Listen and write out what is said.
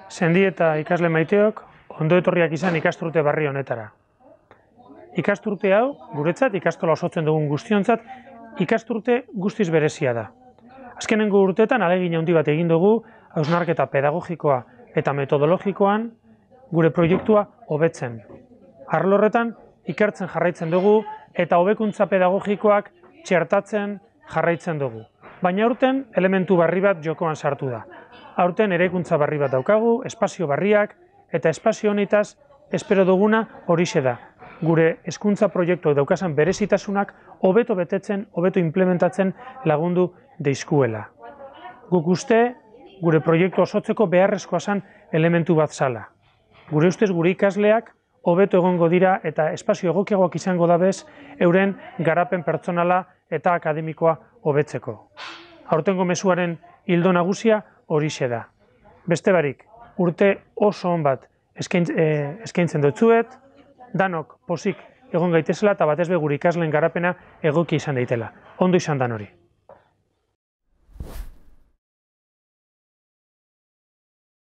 Sendi eta ikasle maiteok, ondo etorriak izan ikasturte berri honetara. Ikasturte hau, guretzat, ikastola osotzen dugun guztiontzat, ikasturte guztiz berezia da. Azkenengo urteetan ahalegin handi bat egin dugu, hausnarketa pedagogikoa eta metodologikoan gure proiektua hobetzen. Arlo horretan, ikertzen jarraitzen dugu eta hobekuntza pedagogikoak txertatzen jarraitzen dugu. Baina aurten elementu berri bat jokoan sartu da. Aurten eraikuntza berri bat daukagu, espazio berriak, eta espazio honetaz espero duguna horixe da. Gure hezkuntza proiektuak daukazan berezitasunak hobeto betetzen, hobeto implementatzen lagundu deizkuela. Guk uste, gure proiektu osotzeko beharrezkoa zen elementu bat zala. Gure ustez gure ikasleak hobeto egongo dira eta espazio egokiagoak izango dabez euren garapen pertsonala eta akademikoa hobetzeko. Aurtengo mezuaren ildo nagusia horixe da. Beste barik, urte oso on bat eskaintzen dutzuet, danok pozik egon gaitezela eta batez be gure ikasleen garapena egoki izan daitela. Ondo izan dan hori.